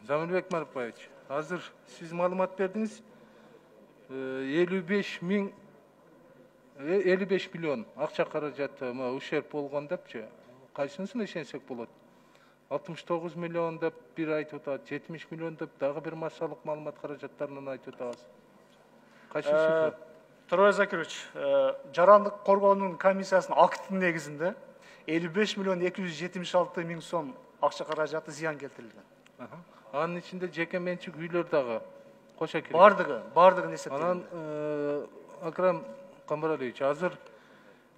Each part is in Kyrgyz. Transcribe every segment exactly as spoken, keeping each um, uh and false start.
Замирбек Марпаевич, азыр сиз маалымат бердиңиз. элүү беш миң элүү беш миллион акча каражаты ущерб болгон депчи. Кайсынысын ишенсек болот? алтымыш тогуз миллион деп бир айтып атат, жетимиш миллион деп дагы бир массалык маалымат каражаттарынан айтып атабыз. Кайсы цифра? Туробек Закирович, жарандык коргоонун комиссиясынын актынын негизинде элүү беш миллион эки жүз жетимиш алты миң сом акча каражаты зыян келтирилген. Анын ичинде жеке менчик үйлөр дагы кошо кирген. Бардыгы, бардыгын эсептелген. Анан Акрам Камбаралиевич, азыр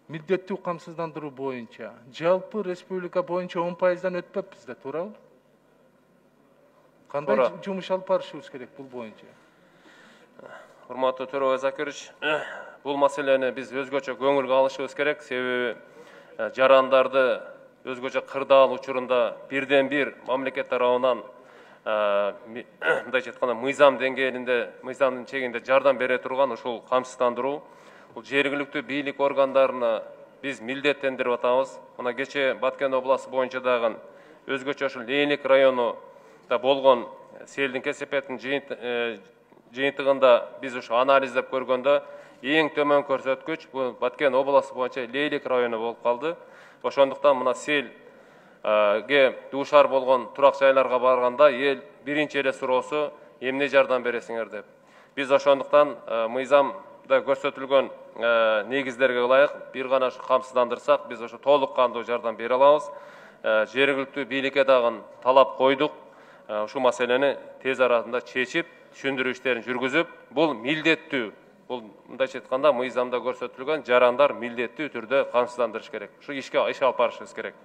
милдеттүү камсыздандыруу боюнча жалпы республика боюнча он пайыздан өтпөппүз да, туурабы? Кандай жумуш алып барышыбыз керек бул боюнча? Урматтуу Туробек Закирович, бул маселени биз өзгөчө көңүлгө алышыбыз керек. Себеби жарандарды өзгөчө кырдаал учурунда бирден бир мамлекет тарабынан мындайча айтканда мыйзам деңгээлинде, мыйзамдын чегинде жардам бере турган ушул камсыздандыруу. Бул жергиликтүү бийлик органдарына биз милдеттендирип атабыз. Мына кече Баткен областы боюнча дагы өзгөчө ушул Лейник районунда болгон селдин кесепетинин жыйынтыгында биз ушу анализдеп көргөндө эң төмөн көрсөткүч бул Баткен областы боюнча Лейлик району болуп калды. Ошондуктан мына селге дуушар болгон турак жайларга барганда эл биринчи эле суроосу эмне жардам бересиңер деп. Биз ошондуктан мыйзамда көрсөтүлгөн негиздерге ылайык бир гана ушу камсыздандырсак биз ошо толук кандуу жардам бере алабыз. Жергиликтүү бийликке дагы талап койдук. Ушул маселени тез арада чечип, түшүндүрүү иштерин жүргүзүп, бул милдеттүү. Бул мындайча айтканда мыйзамда көрсөтүлгөн жарандар милдеттүү түрдө камсыздандырыш керек. Ушу ишке иш алып барышыбыз керек.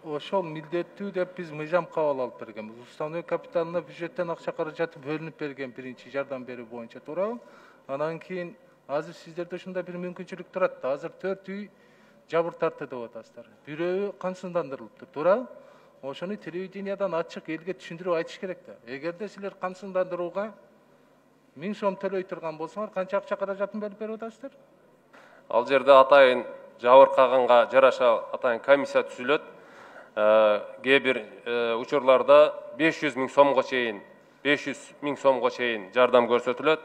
Ошол милдеттүү деп биз мыйзам кабыл алып бергенбиз. Уставной капиталына бюджеттен акча каражаты бөлүнүп берген биринчи жардам берүү боюнча, туурабы? Анан кийин азыр сиздерде ушундай бир мүмкүнчүлүк турат да. Азыр төрт үй жабыр тартты деп атасыздар. Бирөө камсыздандырылыптыр, туурабы? Ошону телевидениядан ачык элге түшүндүрүп айтыш керек да. Эгерде силер камсыздандырууга миң сом төлөй турган болсоңор, канча акча каражатын бөлүп берип атасыздар? Ал жерде атайын жабыркаганга жараша атайын комиссия түзүлөт. Кээ бир учурларда беш жүз миң сомго чейин, беш жүз миң сомго чейин жардам көрсөтүлөт.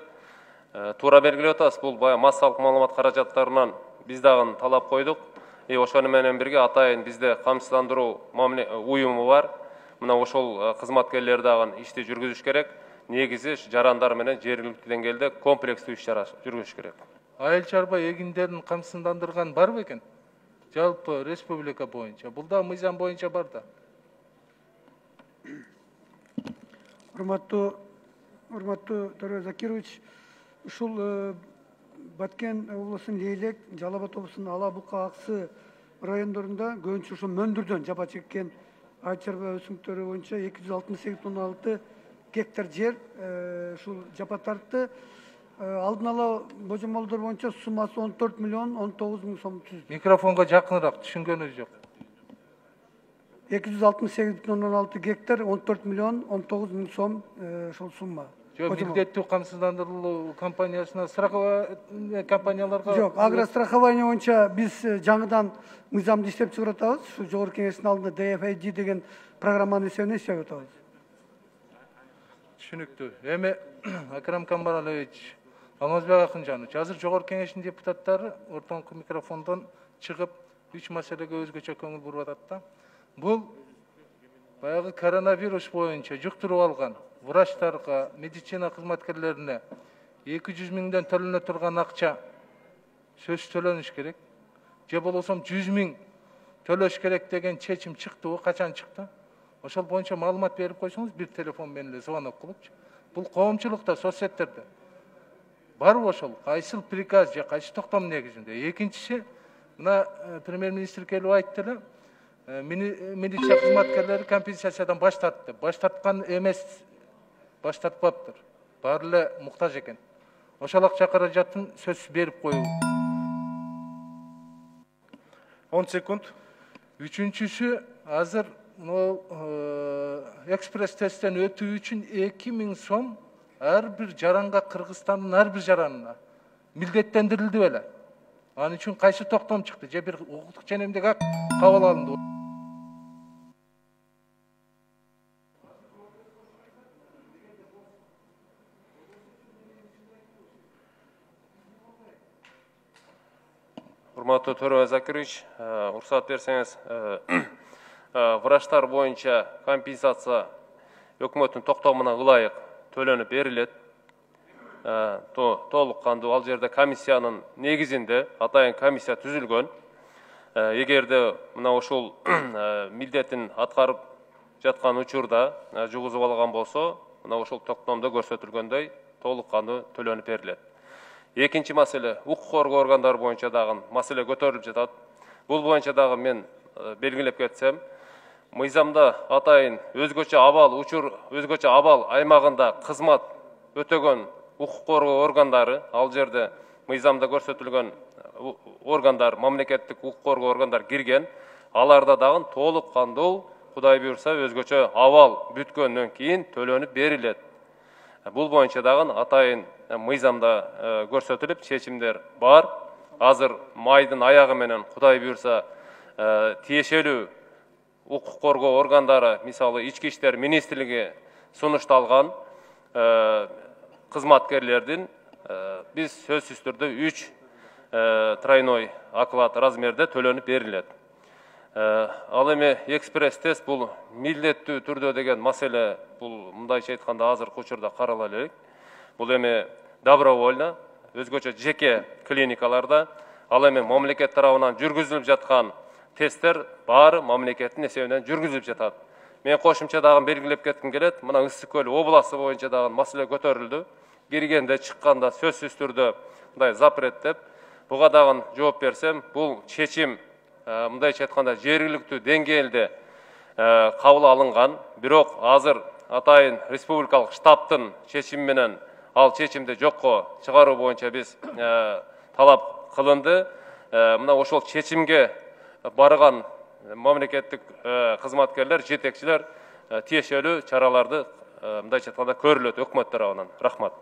Туура белгилеп атасыз, бул баягы массалык маалымат каражаттарынан биз дагы талап койдук. И ошону менен бирге атайын бизде камсыздандыруу уюму бар. Мына ошол кызматкерлер дагы ишти жүргүзүш керек. Негизи жарандар менен жергиликтүү деңгээлде комплекстүү иш-чара жүргүзүш керек. Айыл чарба эгиндерин камсыздандырган бар бекен? Жалпы республика боюнча. Бул да мыйзам боюнча бар да. Урматтуу урматтуу Туробек Закирович, ушул Баткен облусунун Лейлек, Жалал Абад облусунун Ала Бука, Аксы райондорунда көбүнчө ушул мөндүрдөн жапа чеккен айыл чарба өсүмдүктөрү боюнча эки жүз алтымыш сегиз бүтүн ондон алты гектар жер ушул жапа тартты. Алдын ала божомолдор боюнча суммасы он төрт миллион он тогуз миң сом түздү. Микрофонго жакыныраак түшүнгөнүз жок. эки жүз алтымыш сегиз бүтүн ондон алты гектар он төрт миллион он тогуз миң сом ушул сумма. Жок, милдеттүү камсыздандыруу компаниясына страховая компанияларга жок, агрострахование боюнча биз жаңыдан мыйзамды иштеп чыгарып атабыз. Ушу жогорку кеңештин алдында ди эф эй джи деген программанын эсебинен иштеп атабыз. Түшүнүктүү. Эми Акрам Камбаралиевич, Алмазбек Акынжанович, азыр жогорку кеңештин депутаттары ортоңку микрофондон чыгып үч маселеге өзгөчө көңүл буруп атат да. Бул баягы коронавирус боюнча жуктуруп алган врачтарга, медицина кызматкерлерине эки жүз миңден төлөнө турган акча сөзсүз төлөнүш керек. Же болбосо жүз миң төлөш керек деген чечим чыктыбы, качан чыкты? Ошол боюнча маалымат берип койсоңуз бир телефон менен эле звонок кылыпчы. Бул коомчулукта, соцсеттерде барбы ошол? Кайсыл приказ же кайсы токтом негизинде? Экинчиси, мына премьер-министр келип айтты эле, милиция кызматкерлери компенсациядан баш тартты. Баш тарткан эмес, баш тартпаптыр. Баары эле муктаж экен. Ошол акча каражатын сөзсүз берип коюу. он секунд. Үчүнчүсү, азыр экспресс тесттен өтүү үчүн эки миң сом ар бир жаранга, Кыргызстандын ар бир жаранына милдеттендирилди беле. Анын үчүн кайсы токтом чыкты? Же бир укуктук ченемдик акт кабыл алынды? урматтуу Төрө Закирович, уруксат берсеңиз, врачтар боюнча компенсация өкмөттүн токтомуна ылайык төлөнүп берилет. Толук кандуу ал жерде комиссиянын негизинде атайын комиссия түзүлгөн. Эгерде мына ушул милдетин аткарып жаткан учурда жугузуп алган болсо, мына ушул токтомдо көрсөтүлгөндөй толук кандуу төлөнүп берилет. Экинчи маселе, укук коргоо органдары боюнча дагы маселе көтөрүлүп жатат. Бул боюнча дагы мен белгилеп кетсем, мыйзамда атайын өзгөчө абал учур, өзгөчө абал аймагында кызмат өтөгөн укук коргоо органдары, ал жерде мыйзамда көрсөтүлгөн органдар, мамлекеттик укук коргоо органдар кирген, аларда дагы толук кандуу, Кудай буйрса, өзгөчө абал бүткөндөн кийин төлөнүп берилет. Бул боюнча дагы атайын мыйзамда көрсөтүлүп, чечимдер бар. Азыр майдын аягы менен Кудай буйрса, тиешелүү укук коргоо органдары, мисалы Ички иштер министрлиги сунушталган кызматкерлердин биз сөзсүз түрдө үч тройной оклад размерде төлөнүп берилет. Ал эми экспресс-тест бул милдеттүү түрдө деген маселе, бул мындайча айтканда азыркы учурда карала элек. Бул эми добровольно, өзгөчө жеке клиникаларда, ал эми мамлекет тарабынан жүргүзүлүп жаткан тесттер баары мамлекеттин эсебинен жүргүзүлүп жатат. Мен кошумча дагы белгилеп кетким келет, мына Ысык көл областы боюнча дагы маселе көтөрүлдү. Киргенде, чыкканда сөзсүз түрдө мындай запреттеп, буга дагы жооп берсем, бул чечим мындайча айтканда жергиликтүү деңгээлде кабыл алынган, бирок азыр атайын республикалык штабтын чечими менен ал чечимди жокко чыгаруу боюнча биз талап кылынды. Мына ошол чечимге барган мамлекеттик кызматкерлер, жетекчилер тиешелүү чараларды мындайча айтканда көрүлөт өкмөт тарабынан. Рахмат.